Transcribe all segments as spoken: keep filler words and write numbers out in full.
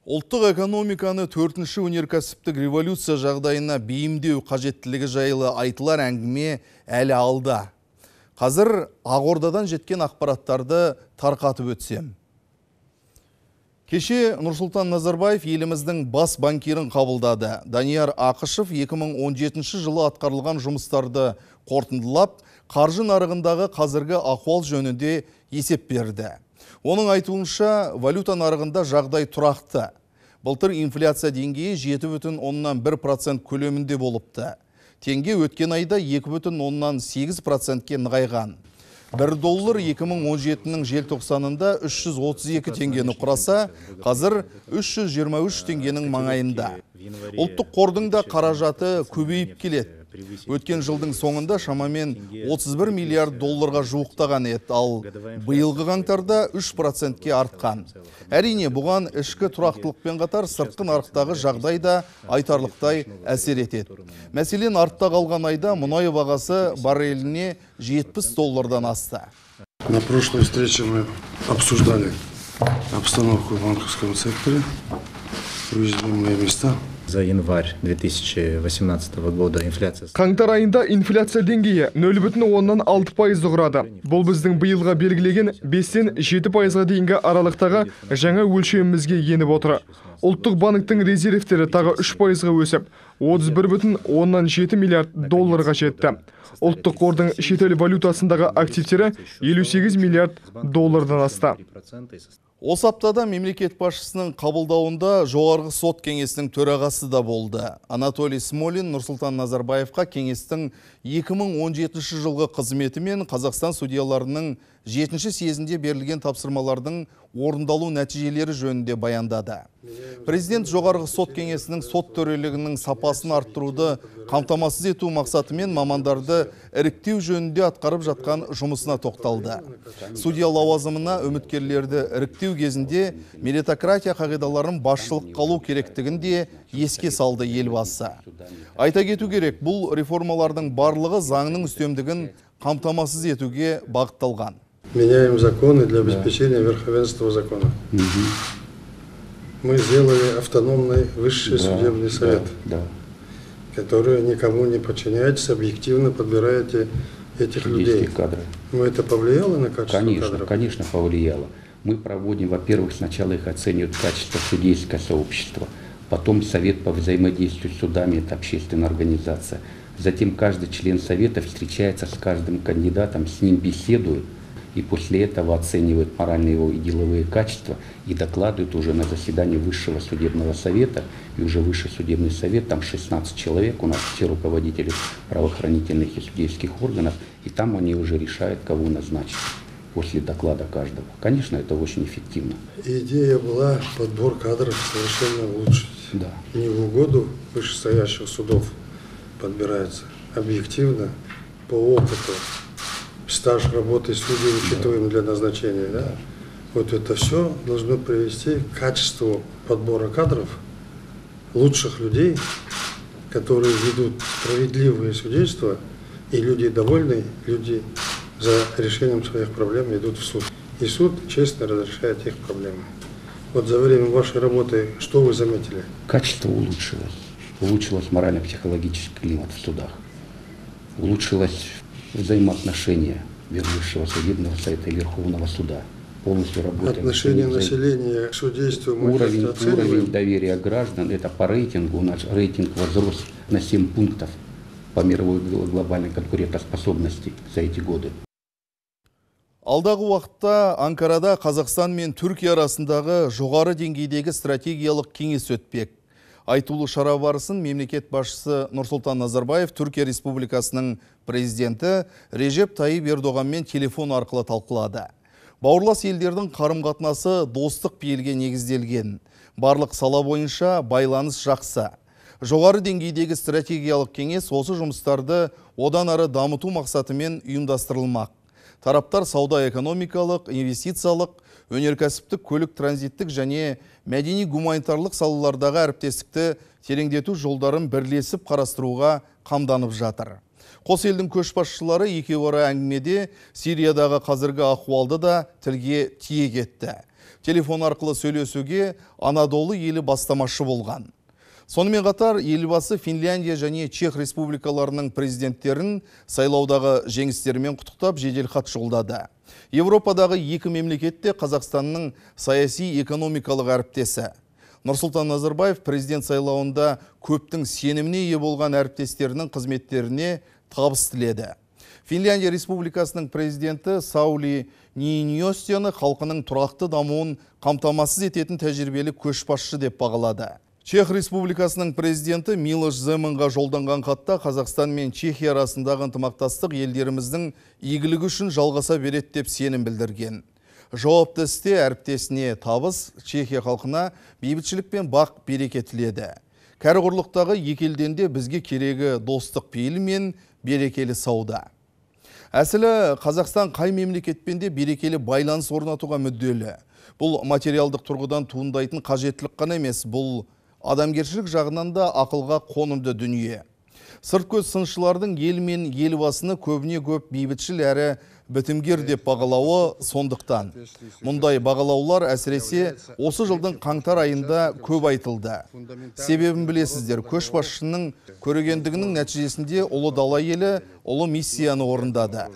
Ұлттық экономиканы төртінші өнеркәсіптік революция жағдайына бейімдеу қажеттілігі жайлы айтылар әңгіме әлі алда. Қазір Ақордадан жеткен ақпараттарды тарқатып өтсем. Кеше Нұрсұлтан Назарбаев еліміздің бас банкирін қабылдады. Данияр Ақышев екі мың он жетінші жылы атқарылған жұмыстарды қорытындылап, қаржы нарығындағы қазіргі ахуал жөнінде есеп берді. Оның айтуынша, валюта нарығында жағдай тұрақты. Былтыр инфляция деңгейі жеті бүтін оннан бір процент көлемінде болыпты. Теңге өткен айда екі бүтін оннан сегіз процентке нығайған. бір доллар екі мың он жетінің желтоқсанында үш жүз отыз екі теңгені құраса, қазір үш жүз жиырма үш теңгенің маңайында. Ұлттық қордың да қаражаты көбейіп келеді. Өткен жылдың соңында шамамен отыз бір миллиард долларға жуықтаған еді, ал биылғы қаңтарда үш процентке артқан. Әрине, бұған ішкі тұрақтылықпен қатар сыртқы нарықтағы жағдай да айтарлықтай әсер етеді. Мәселен, артта қалған айда мұнай бағасы барреліне жетпіс доллардан асты. На прошлой встрече мы обсуждали обстановку в банковском секторе, уязвимые места. За январь две тысячи восемнадцатого года инфляция... Қаңтар айында инфляция деңгейі нөл бүтін оннан алты пайызды құрады. Бұл біздің биылға белгілеген бестен жеті пайызға дейінгі аралықтағы жаңа өлшемімізге еніп отыр. Ұлттық банктің резервтері тағы үш пайызға өсіп, отыз бір бүтін оннан жеті миллиард долларға жетті. Ұлттық қордың шетел валютасындағы активтері елу сегіз миллиард доллардан асты. Осы аптада мемлекет басшысының қабылдауында жоғарғы сот кеңесінің төрағасы да болды. Анатолий Смолин Нұрсұлтан Назарбаевқа кеңестің екі мың он жетінші жылғы қызметі мен Қазақстан судьяларының жетінші съезінде берілген тапсырмалардың орындалу нәтижелері жөнінде баяндады. Президент жоғарғы сот кеңесінің сот төрелігінің сапасын арттыруды қамтамасыз ету мақсатымен мамандарды іріктеу жөнінде атқарып жатқан жұмысына тоқталды. Судья лауазымына үміткерлерді іріктеу кезінде меритократия қағидаларын басшылық қалу керектігін де еске салды елбасы. Айта кету керек, бұл реформалардың барлығы заңның үстемдігін қамтамасыз етуге бағытталған. Меняем законы для обеспечения верховенства закона. Мы сделали автономный высший судебный совет, который никому не подчиняется, объективно подбираете этих людей. Но это повлияло на качество конечно, кадров? Конечно, повлияло. Мы проводим, во-первых, сначала их оценивают качество судейское сообщество, потом совет по взаимодействию с судами, это общественная организация. Затем каждый член совета встречается с каждым кандидатом, с ним беседует, и после этого оценивают моральные его и деловые качества и докладывают уже на заседании Высшего судебного совета. И уже Высший судебный совет, там шестнадцать человек, у нас все руководители правоохранительных и судейских органов, и там они уже решают, кого назначить после доклада каждого. Конечно, это очень эффективно. Идея была подбор кадров совершенно улучшить. Да. Не в угоду вышестоящих судов подбирается, объективно, по опыту. Стаж работы судей учитываем для назначения. Да? Вот это все должно привести к качеству подбора кадров, лучших людей, которые ведут справедливые судейства, и люди довольны, люди за решением своих проблем идут в суд. И суд честно разрешает их проблемы. Вот за время вашей работы что вы заметили? Качество улучшилось. Улучшилось морально-психологический климат в судах. Улучшилось взаимоотношения Высшего судебного совета и Верховного суда. Полностью работаем. Отношение населения к судейству уровень, уровень доверия граждан, это по рейтингу, у нас рейтинг возрос на семь пунктов по мировой глобальной конкурентоспособности за эти годы. Алдағы уақытта Анкарада Қазақстан мен Түркия арасындағы жоғары деңгейдегі стратегиялық кеңес өтпек. Айтулы шара барысын мемлекет басшысы Нұрсұлтан Назарбаев Түркия Республикасының президенті Режеп Тайип Ердоғанмен телефон арқылы талқылады. Бауырлас елдердің қарым-қатынасы достық пейілге негізделген. Барлық сала бойынша байланыс жақсы. Жоғары деңгейдегі стратегиялық кеңес осы жұмыстарды одан ары дамыту мақсатымен ұйымдастырылмақ. Тараптар сауда-экономикалық, инвестициялық, өнеркәсіптік, көлік транзиттік және мәдени гуманитарлық салалардағы әріптестікті тереңдету жолдарын бірлесіп қарастыруға қамданып жатыр. Қос елдің көшбасшылары екеуара әңгімеде Сириядағы қазіргі ахуалды да тілге тиек етті. Телефон арқылы сөйлесуге Анадолы елі бастамашы болған. Сонымен қатар елбасы Финляндия және Чех республикаларының президенттерін сайлаудағы жеңістерімен құттықтап жеделхат жолдады. Европадағы екі мемлекетте Қазақстанның саяси экономикалық әріптесі. Нұрсұлтан Назарбаев президент сайлауында көптің сеніміне ие болған әріптестерінің қызметтеріне табыс тіледі. Финляндия республикасының президенті Саули Нииньостияны халқының тұрақты дамуын қамтамасыз ететін тәжірибелі көшбасшы деп бағалады. Чех республикасының президенті Милош Земанға жолданған хатта Қазақстан мен Чехия арасындағы ынтымақтастық елдеріміздің игілігі үшін жалғаса береді деп сенім білдірген. Жауапты істе әріптесіне табыс, Чехия халқына бейбітшілік пен бақ береке тіледі. Кәрі құрлықтағы екі елден де бізге керегі достық пейілі мен берекелі сауда. Әсілі Қазақстан қай мемлекетпен де берекелі байланыс орнатуға мүдделі. Бұл материалдық тұрғыдан туындайтын қажеттілік қана емес, бұл адамгершілік жағынан да ақылға қонымды дүние. Сырт көз сыншылардың ел мен елбасыны көбіне көп бейбітшіл әрі бітімгер деп бағалауы сондықтан. Мұндай бағалаулар әсіресе осы жылдың қаңтар айында көп айтылды. Себебін білесіздер, көшбасшының көрегендігінің нәтижесінде ұлы дала елі ұлы миссияны орындады.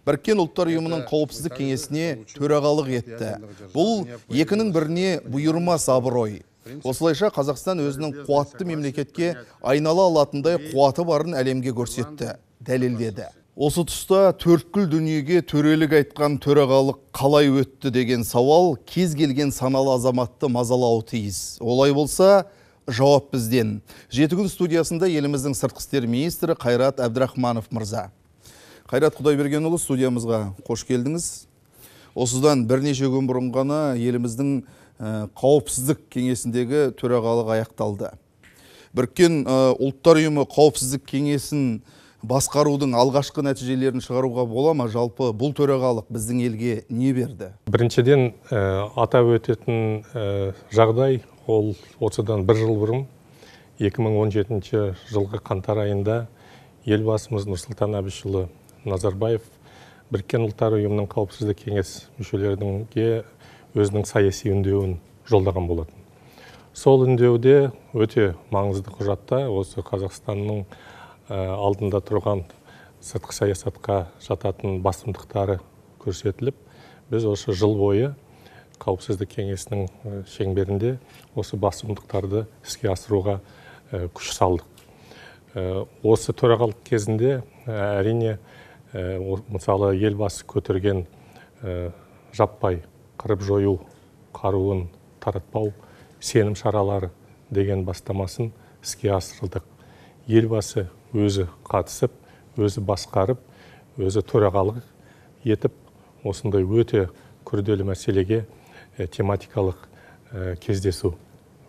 Біріккен ұлттар ұйымының қауіпсіздік кеңесіне төрағалық етті. Бұл екінің біріне бұйырмас абырой. Осылайша Қазақстан өзінің қуатты мемлекетке айнала алатындай қуаты барын әлемге көрсетті, дәлелдеді. Осы тұста төрткүл дүниеге төрелік айтқан төрағалық қалай өтті деген сауал кез келген саналы азаматты мазалауы тиіс. Олай болса, жауап бізден. Жеті күн студиясында еліміздің сыртқы істер министрі Қайрат Әбдірахманов мырза. Қайрат Құдайбергенұлы, студиямызға қош келдіңіз. Осыдан бірнеше күн бұрын ғана еліміздің қауіпсіздік кеңесіндегі төрағалық аяқталды. Біріккен ұлттар ұйымы қауіпсіздік кеңесін басқарудың алғашқы нәтижелерін шығаруға бола ма? Жалпы бұл төрағалық біздің елге не берді? Біріншіден атап өтетін жағдай ол осыдан бір жыл бұрын екі мың он жетінші жылғы қаңтар айында елбасымыз Нұрсұлтан Әбішұлы Назарбаев Біріккен ұлттар ұйымының қауіпсіздік кеңес мүшелеріне өзінің саяси үндеуін жолдаған болатын. Сол үндеуде өте маңызды құжатта осы Қазақстанның алдында тұрған сыртқы саясатқа жататын басымдықтары көрсетіліп, біз осы жыл бойы қауіпсіздік кеңесінің шеңберінде осы басымдықтарды іске асыруға күш салдық. Осы төрағалық кезінде әрине мысалы елбасы көтерген жаппай қырып жою қаруын таратпау сенім шаралары деген бастамасын іске асырылдық. Елбасы өзі қатысып, өзі басқарып, өзі төрағалық етіп, осындай өте күрделі мәселеге тематикалық кездесу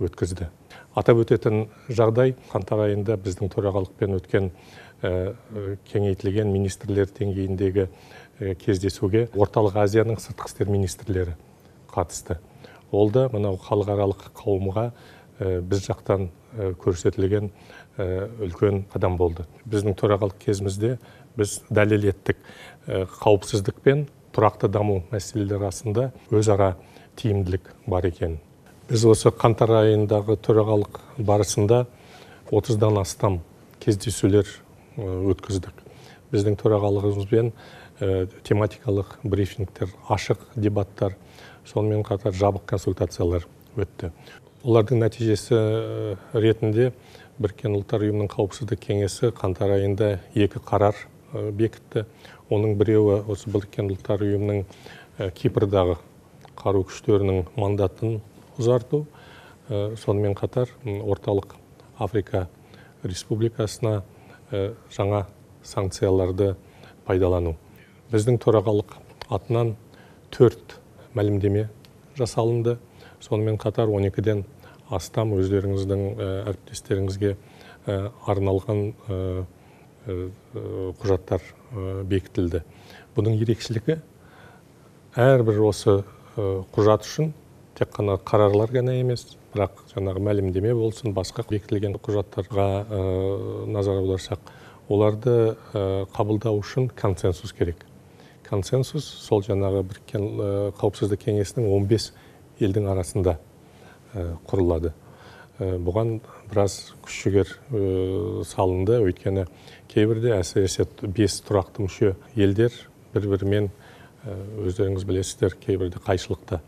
өткізді. Атап өтетін жағдай қаңтар айында біздің төрағалықпен өткен кеңейтілген министрлер деңгейіндегі кездесуге Орталық Азияның сыртқы істер министрлері қатысты. Ол да мынау халықаралық қауымға біз жақтан көрсетілген үлкен қадам болды. Біздің төрағалық кезімізде біз дәлел еттік қауіпсіздік пен тұрақты даму мәселелері арасында өзара тиімділік бар екен. Біз осы қаңтар айындағы төрағалық барысында отыздан астам кездесулер өткіздік. Біздің төрағалығымызбен тематикалық брифингтер, ашық дебаттар, сонымен қатар жабық консультациялар өтті. Олардың нәтижесі ретінде Біріккен ұлттар ұйымының қауіпсіздік кеңесі қаңтар айында екі қарар бекітті. Оның біреуі осы Біріккен ұлттар ұйымының Кипрдағы қару күштерінің мандатын ұзарту, сонымен қатар Орталық Африка Республикасына жаңа санкцияларды пайдалану. Біздің төрағалық атынан төрт мәлімдеме жасалынды. Сонымен қатар он екіден астам өздеріңіздің әріптестеріңізге арналған құжаттар бекітілді. Бұның ерекшелігі әрбір осы құжат үшін тек қана қарарлар ғана емес, бірақ жаңағы мәлімдеме болсын, басқа бекітілген құжаттарға назар аударсақ, оларды қабылдау үшін консенсус керек. Консенсус сол жаңағы Біріккен қауіпсіздік кеңесінің он бес елдің арасында құрылады. Бұған біраз күш-жігер салынды, өйткені кейбірде әсіресе бес тұрақты мүше елдер бір-бірімен өздеріңіз білесіздер, кейбірде қайшылықта.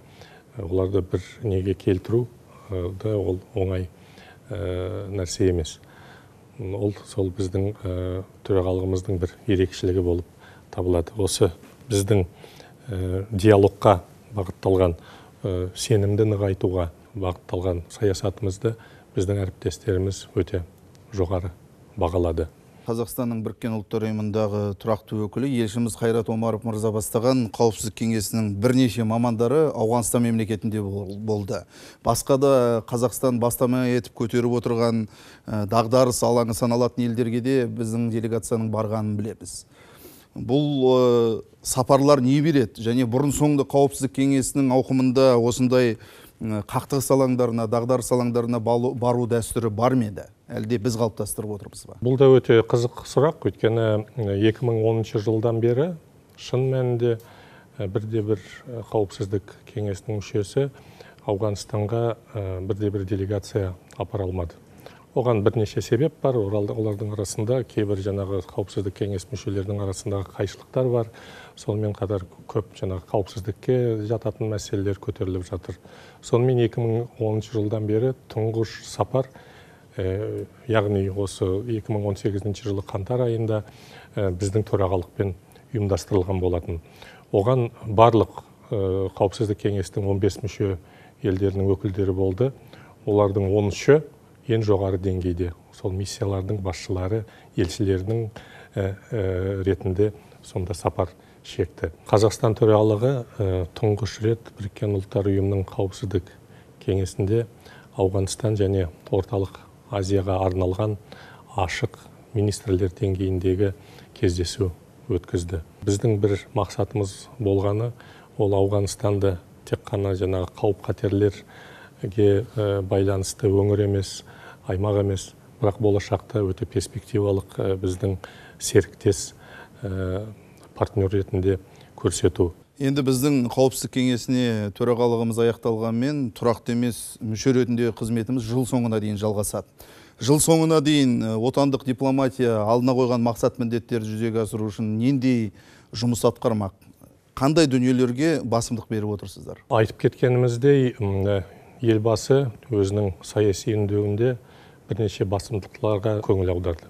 Оларды бір неге келтіру да ол оңай нәрсе емес. Ол сол біздің төрағалығымыздың бір ерекшелігі болып табылады. Осы біздің диалогқа бағытталған, сенімді нығайтуға бағытталған саясатымызды біздің әріптестеріміз өте жоғары бағалады. Қазақстанның Біріккен ұлттар ұйымындағы тұрақты өкілі елшіміз Қайрат Омаров мырза бастаған қауіпсіздік кеңесінің бірнеше мамандары Ауғанстан мемлекетінде болды. Басқа да Қазақстан бастама етіп көтеріп отырған дағдарыс алаңы саналатын елдерге де біздің делегацияның барғанын білеміз. Бұл сапарлар не береді? Және бұрын соңды қауіпсіздік кеңесінің ауқымында осындай қақтығыс алаңдарына, дағдарыс алаңдарына бару дәстүрі бар ма еді? Әлде біз қалыптастырып отырмыз ба? Бұл да өте қызық сұрақ, өйткені екі мың оныншы жылдан бері шын мәнінде бірде-бір қауіпсіздік кеңесінің мүшесі Ауғанстанға бірде-бір делегация апара алмады. Оған бірнеше себеп бар. Олардың арасында кейбір жаңағы қауіпсіздік кеңес мүшелерінің арасындағы қайшылықтар бар. Сонымен қатар көп жаңағы қауіпсіздікке жататын мәселелер көтеріліп жатыр. Сонымен екі мың оныншы жылдан бері тұңғыш сапар, яғни осы екі мың он сегізінші жылы қаңтар айында біздің төрағалықпен ұйымдастырылған болатын. Оған барлық қауіпсіздік кеңестің он бес мүше елдерінің өкілдері болды. Олардың он үші ең жоғары деңгейде, сол миссиялардың басшылары, елшілерінің ретінде сонда сапар шекті. Қазақстан төрағалығы тұңғыш рет Біріккен ұлттар ұйымының қауіпсіздік кеңесінде Ауғанстан және Орталық Азияға арналған ашық министрлер деңгейіндегі кездесу өткізді. Біздің бір мақсатымыз болғаны, ол Ауғанстанды тек қана жаңағы қауіп-қатерлерге байланысты өңір емес, аймақ емес, бірақ болашақта өте перспективалық біздің серіктес партнер ретінде көрсету. Енді біздің қауіпсіздік кеңесіне төрағалығымыз аяқталғанмен тұрақты емес мүше ретінде қызметіміз жыл соңына дейін жалғасады. Жыл соңына дейін отандық дипломатия алдына қойған мақсат міндеттерді жүзеге асыру үшін нендей жұмыс атқармақ? Қандай дүниелерге басымдық беріп отырсыздар? Айтып кеткеніміздей, елбасы өзінің саяси үндеуінде бірнеше басымдықтарға көңіл аударды.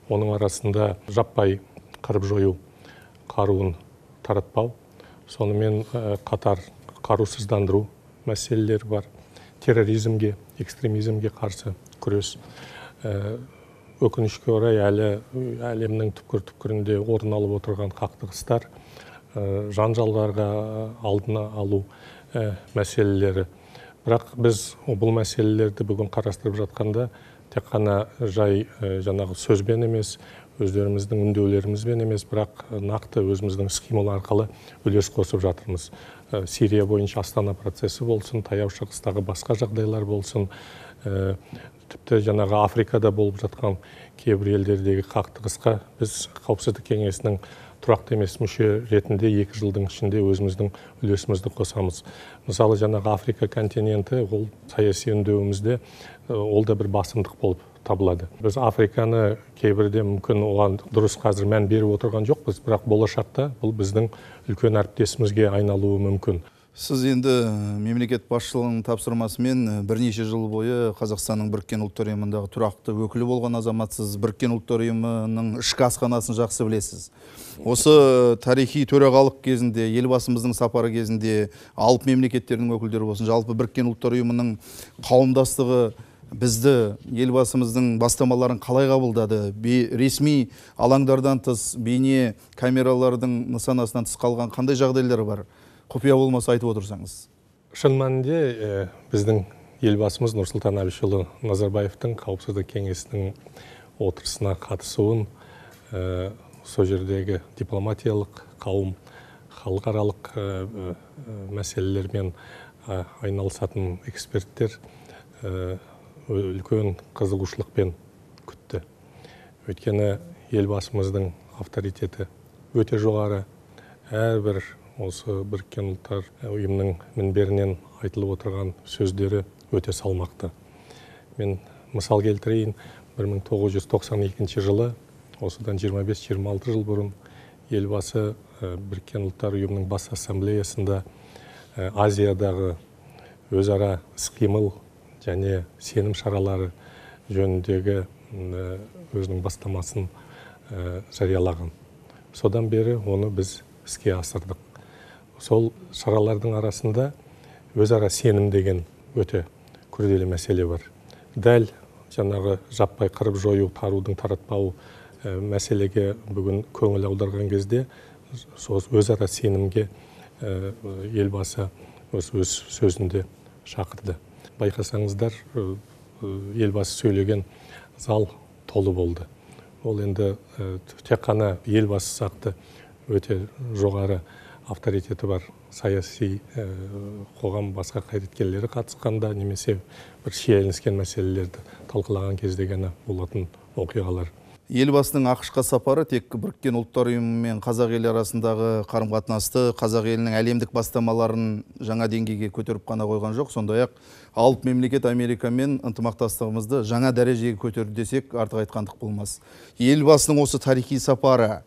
Оның арасында жаппай қырып жою қаруын таратпау, сонымен қатар қарусыздандыру мәселелері бар, терроризмге, экстремизмге қарсы күрес. Өкінішке орай әлі әлемнің түпкір-түпкірінде орын алып отырған қақтығыстар, жанжалдарға алдын алу мәселелері. Бірақ біз бұл мәселелерді бүгін қарастырып жатқанда тек қана жай жаңағы сөзбен емес, өздеріміздің үндеулерімізбен емес, бірақ нақты өзіміздің іс-қимыл арқылы үлес қосып жатырмыз. Сирия бойынша Астана процесі болсын, Таяу Шығыстағы басқа жағдайлар болсын, тіпті жаңағы Африкада болып жатқан кейбір елдердегі қақтығысқа біз қауіпсіздік кеңесінің тұрақты емес мүше ретінде екі жылдың ішінде өзіміздің үлесімізді қосамыз. Мысалы, жаңағы Африка континенті, ол саяси үндеуімізде ол да бір басымдық болып табылады. Біз Африканы кейбірде мүмкін оған дұрыс қазір мән беріп отырған жоқпыз, бірақ болашақта бұл біздің үлкен әріптесімізге айналуы мүмкін. Сіз енді мемлекет басшылығының тапсырмасымен бірнеше жыл бойы Қазақстанның Біріккен ұлттар ұйымындағы тұрақты өкілі болған азаматсыз. Біріккен ұлттар ұйымының ішкі асханасын жақсы білесіз. Осы тарихи төрағалық кезінде, елбасымыздың сапары кезінде алып мемлекеттердің өкілдері болсын, жалпы Біріккен ұлттар ұйымының қауымдастығы бізді, елбасымыздың бастамаларын қалай қабылдады? Ресми алаңдардан тыс, бейне камералардың нысанасынан тыс қалған қандай жағдайлар бар? Құпия болмаса айтып отырсаңыз. Шын мәнінде біздің елбасымыз Нұрсұлтан Әбішұлы Назарбаевтың қауіпсіздік кеңесінің отырысына қатысуын сол жердегі дипломатиялық қауым, халықаралық мәселелермен айналысатын эксперттер үлкен қызығушылықпен күтті. Өйткені елбасымыздың авторитеті өте жоғары, әрбір осы біріккен ұлттар ұйымының мінберінен айтылып отырған сөздері өте салмақты. Мен мысал келтірейін, бір мың тоғыз жүз тоқсан екінші жылы, осыдан жиырма бес жиырма алты жыл бұрын, елбасы біріккен ұлттар ұйымының бас ассамблеясында Азиядағы өзара іс-қимыл және сенім шаралары жөніндегі өзінің бастамасын жариялаған. Содан бері оны біз іске асырдық. Сол шаралардың арасында өзара сенім деген өте күрделі мәселе бар. Дәл жаңағы жаппай қырып жою, қарудың таратпау мәселеге бүгін көңіл аударған кезде өзара сенімге елбасы өз сөзінде шақырды. Байқасаңыздар, елбасы сөйлеген зал толы болды. Ол енді тек қана елбасы сақты өте жоғары авторитеті бар саяси қоғам басқа қайраткерлері қатысқанда немесе бір шиеленіскен мәселелерді талқылаған кезде ғана болатын оқиғалар. Елбасының ақш-қа сапары тек біріккен ұлттар ұйымы мен қазақ елі арасындағы қарым-қатынасты, қазақ елінің әлемдік бастамаларын жаңа деңгейге көтеріп қана қойған жоқ, сондай-ақ алып мемлекет Америкамен ынтымақтастығымызды жаңа дәрежеге көтерді десек артық айтқандық болмас. Елбасының осы тарихи сапары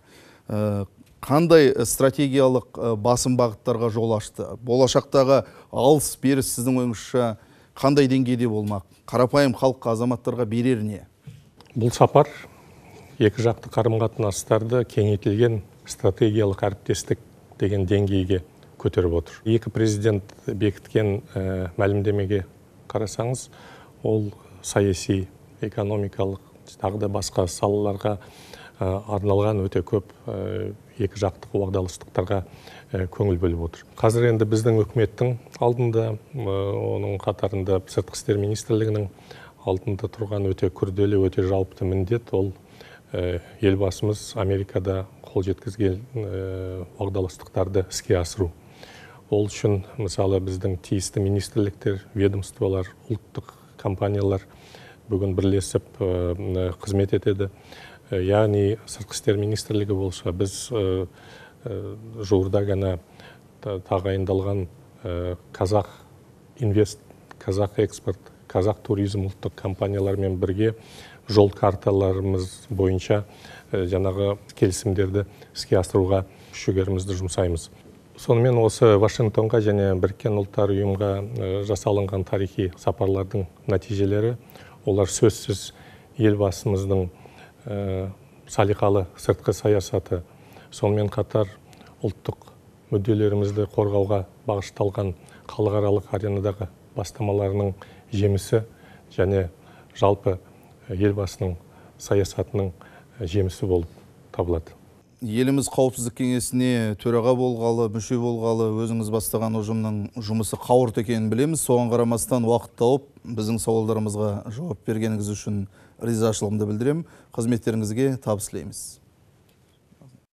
қандай стратегиялық басым бағыттарға жол ашты? Болашақтағы алыс-беріс сіздің ойыңызша қандай деңгейде болмақ? Қарапайым халыққа, азаматтарға берер не? Бұл сапар екі жақты қарым-қатынастарды кеңейтілген стратегиялық әріптестік деген деңгейге көтеріп отыр. Екі президент бекіткен мәлімдемеге қарасаңыз, ол саяси, экономикалық, тағы да басқа салаларға арналған өте көп екі жақтық уағдаластықтарға көңіл бөліп отыр. Қазір енді біздің үкіметтің алдында, оның қатарында сыртқы істер министрлігінің алдында тұрған өте күрделі, өте жалпы міндет, ол елбасымыз Америкада қол жеткізген уағдаластықтарды іске асыру. Ол үшін мысалы біздің тиісті министрліктер, ведомстволар, ұлттық компаниялар бүгін бірлесіп қызмет етеді. Яғни сыртқы істер министрлігі болса, біз жуырда ғана тағайындалған Қазақ инвест, Қазақ экспорт, Қазақ туризм ұлттық компаниялармен бірге жол карталарымыз бойынша жаңағы келісімдерді іске асыруға күш-жігерімізді жұмсаймыз. Сонымен осы Вашингтонға және біріккен ұлттар ұйымға жасалынған тарихи сапарлардың нәтижелері, олар сөзсіз елбасымыздың салиқалы сыртқы саясаты, сонымен қатар ұлттық мүдделерімізді қорғауға бағышталған халықаралық аренадағы бастамаларының жемісі және жалпы елбасының саясатының жемісі болып табылады. Еліміз қауіпсіздік кеңесіне төраға болғалы, мүше болғалы, өзіңіз бастаған ұжымның жұмысы қауырт екенін білеміз. Соған қарамастан уақыт тауып, біздің сауалдарымызға жауап бергеніңіз үшін ризашылығымды білдіремін. Қызметтеріңізге табыс тілейміз.